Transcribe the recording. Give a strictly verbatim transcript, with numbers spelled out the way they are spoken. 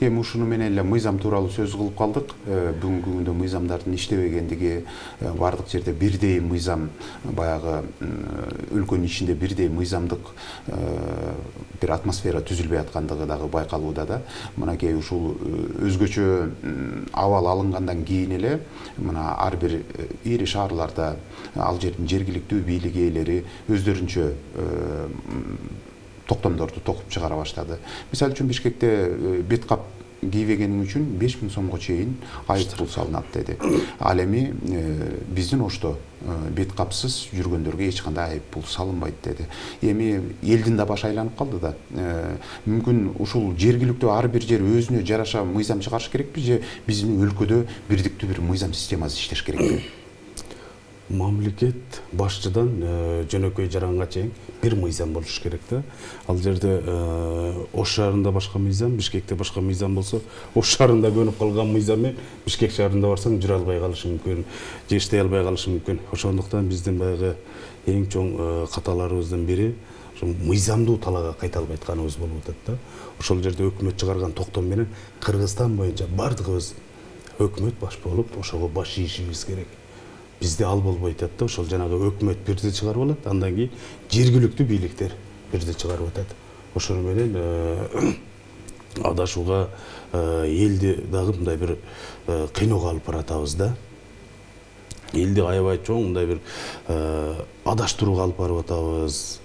эми ушуну менен эле мыйзам тууралуу сөз кылып калдык. Бүгүнкү күндө мыйзамдардын иштебегендиги, бардык жерде бирдей мыйзам, баягы өлкөнүн ичинде бирдей мыйзамдык бир атмосфера түзүлбөй аткандыгы дагы байкалууда да. Мынакей ушул өзгөчө абал алынгандан кийин эле мына ар бир ири шаарларда ал жердин жергиликтүү бийлик ээлери өздөрүнчө токтомдорду токуп чыгара баштады. Мисалы үчүн Бишкекте бет кап кийбегениң үчүн беш миң сомго чейин айып пул салынат деди. Ал эми биздин Ошто бет капсыз жүргөндөргө эч кандай айып пул салынбайт деди. Эми элдин да башы айланып калды да. Мүмкүн ушул жергиликтүү ар бир жер өзүнө жараша мыйзам чыгарыш керекпи же биздин өлкөдө бирдиктүү бир мыйзам системасы иштеш керекпи? Мамлекет башчыдан жөнөкөй жаранга чейин бир мыйзам болуш керек да. Ал жерде Ош шаарында башка мыйзам, Бишкекте башка мыйзам болсо, Ош шаарында көнүп калган мыйзам Бишкек шаарында барсаң жүрө албай калышы мүмкүн, же иштей албай калышы мүмкүн. Ошондуктан биздин баягы эң чоң каталарыбыздын бири ошо мыйзамдуу талаага кайта албай атканыбыз болуп атат да. Ошол жерде өкмөт чыгарган токтом менен Кыргызстан боюнча бардыгыбыз өкмөт баш болуп ошого баш ийишибиз керек. Бизде ал болбойт да, ошол жанагы өкмөт бирди чыгарып алат, андан кийин жергиликтүү бийликтер бирди чыгарып атат. Ошону менен адашууга элди дагы мындай бир кыйноого алып баратабыз да. Элди аябай чоң мындай бир адаштырууга алып барып атабыз.